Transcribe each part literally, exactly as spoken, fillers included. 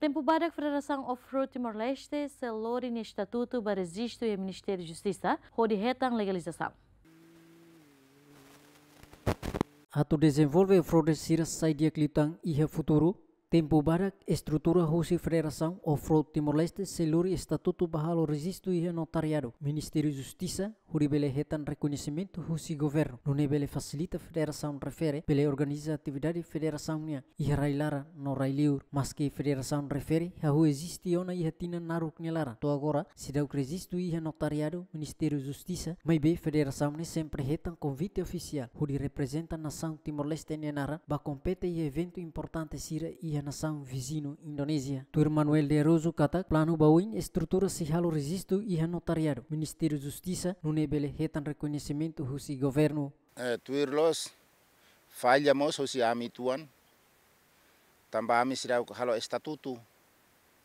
Tempu badak Federasaun Off-Road Timor-Leste sei lori nia estatutu ba rejistu iha Ministériu Justisa hodi hetan legalizasaun. Atu dezenvolve off-roader sira sai di'ak liután iha futuru, tempu badak estrutura husi Federasaun Off-Road Timor-Leste sei lori estatutu ba halo rejistu iha notariadu Ministériu Justisa, hodi bele hetan rekoñesimentu husi governu, nune'e bele fasilita federasaun refere bele organiza atividade federasaun nian iha rai-laran no rai-liur. Maski federasaun refere hahú eziste ona iha tinan naruk nia laran, to'o agora seidauk rejistu iha notariadu Ministériu Justisa, maibé federasaun ne'e sempre hetan konvite ofisiál hodi reprezenta nasaun Timor-Leste nia naran ba kompete iha eventu importante sira iha nasaun viziñu Indonézia. Tuir Manuel de Araújo katak planu ba oin estrutura sei halo rejistu iha notariadu Ministériu Justisa, nune'e bele hetan rekoñesimentu husi governu. Eh, tuir loos, falla mós husi ami uitoan, tanba ami seidauk halo estatutu,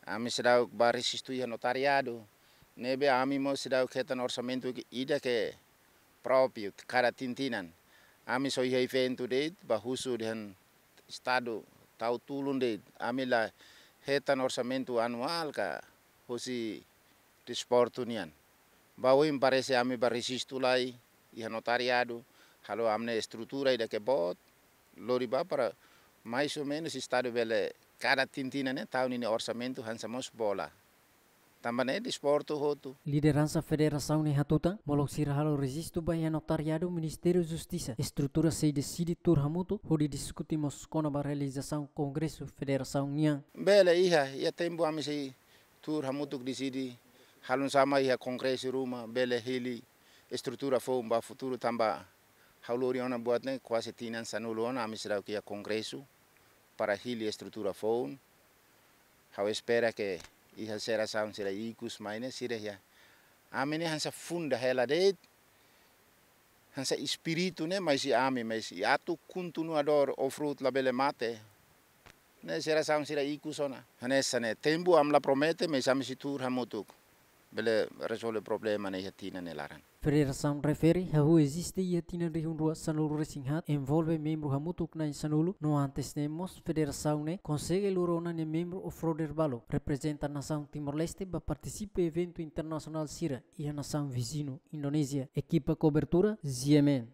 ami seidauk ba rejistu iha notariadu, ne'ebé ami mós seidauk hetan orsamentu ke ida ke própriu, ke kada tinan-tinan. Ami só iha eventu de'it, ba husu dehan Estadu tau tulun de'it, ami la hetan orsamentu anuál ka husi desportu nian. Ba oin parese ami ba rejistu lai iha notariadu, halo ami-nia estrutura ida ke boot, lori ba para mais ou menus Estadu bele kada tinan-tinan ne'e tau ninia orsamentu hanesan mós bola. Tanba ne'e desportu hotu. Lideransa federasaun ne'e hatutan, molok sira halo rejistu ba iha notariadu Ministériu Justisa, estrutura sei deside tuur hamutuk hodi diskute mós kona-ba realizasaun kongresu federasaun nian. Bele iha, iha tempu ami sei tuur hamutuk deside, halo hanesan iha kongresu ruma, bele hili estrutura foun ba futuru tanba ha'u lori ona buat ne'e kuaze tinan sanulu ona ami seidauk iha kongresu para hili estrutura foun. Ha'u espera ke iha jerasaun sira ikus mai ne'e sira iha. Ami ne'e hanesan funda hela de'it, hanesan espíritu ne'e mai husi ami, mais atu kontinuadór off-road labele mate. Ne'e jerasaun sira ikus ona. Hanesan ne'e tempu ami la promete, mais ami sei tuur hamutuk bele rezolve problema ne'e iha tinan nia laran. Federasaun refere hahú eziste iha tinan rihun rua sanulu-resin-haat, envolve membru hamutuk na'in sanulu, no antes ne'e mós federasaun ne'e konsege lori ona nia membru off-roader balu, reprezenta nasaun Timor-Leste ba partisipa eventu internasionál sira iha nasaun viziñu Indonézia. Ekipa kobertura, G M N.